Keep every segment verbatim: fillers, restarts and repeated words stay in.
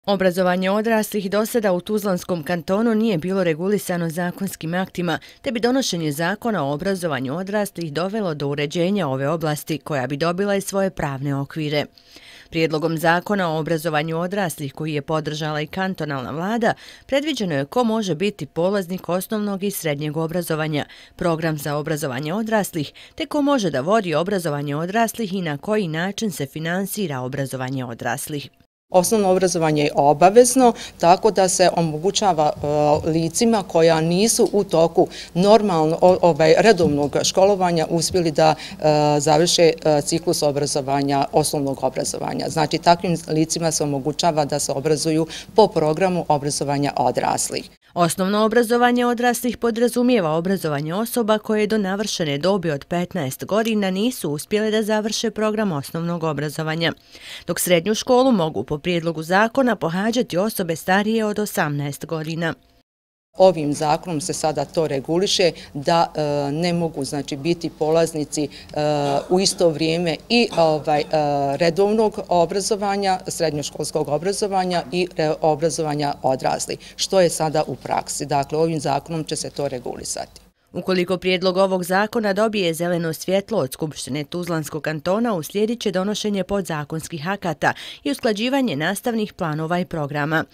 Obrazovanje odraslih do sada u Tuzlanskom kantonu nije bilo regulisano zakonskim aktima, te bi donošenje zakona o obrazovanju odraslih dovelo do uređenja ove oblasti, koja bi dobila i svoje pravne okvire. Prijedlogom zakona o obrazovanju odraslih, koji je podržala i kantonalna vlada, predviđeno je ko može biti polaznik osnovnog i srednjeg obrazovanja, program za obrazovanje odraslih, te ko može da vodi obrazovanje odraslih i na koji način se finansira obrazovanje odraslih. Osnovno obrazovanje je obavezno, tako da se omogućava licima koja nisu u toku normalno ovaj, redovnog školovanja uspjeli da završe ciklus obrazovanja, osnovnog obrazovanja. Znači, takvim licima se omogućava da se obrazuju po programu obrazovanja odraslih. Osnovno obrazovanje odraslih podrazumijeva obrazovanje osoba koje do navršene dobi od petnaest godina nisu uspjele da završe program osnovnog obrazovanja, dok srednju školu mogu po prijedlogu zakona pohađati osobe starije od osamnaest godina. Ovim zakonom se sada to reguliše da e, ne mogu znači biti polaznici e, u isto vrijeme i ovaj, e, redovnog obrazovanja, srednjoškolskog obrazovanja i re, obrazovanja odraslih, što je sada u praksi. Dakle, ovim zakonom će se to regulisati. Ukoliko prijedlog ovog zakona dobije zeleno svjetlo od Skupštine Tuzlanskog kantona, uslijedit će donošenje podzakonskih akata i usklađivanje nastavnih planova i programa.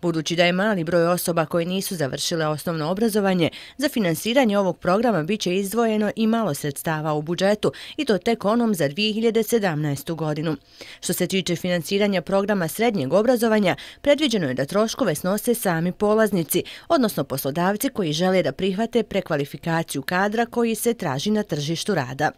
Budući da je mali broj osoba koje nisu završile osnovno obrazovanje, za finansiranje ovog programa bit će izdvojeno i malo sredstava u budžetu, i to tek onom za dvije hiljade sedamnaestu. godinu. Što se tiče finansiranja programa srednjeg obrazovanja, predviđeno je da troškove snose sami polaznici, odnosno poslodavci koji žele da prihvate prekvalifikaciju kadra koji se traži na tržištu rada.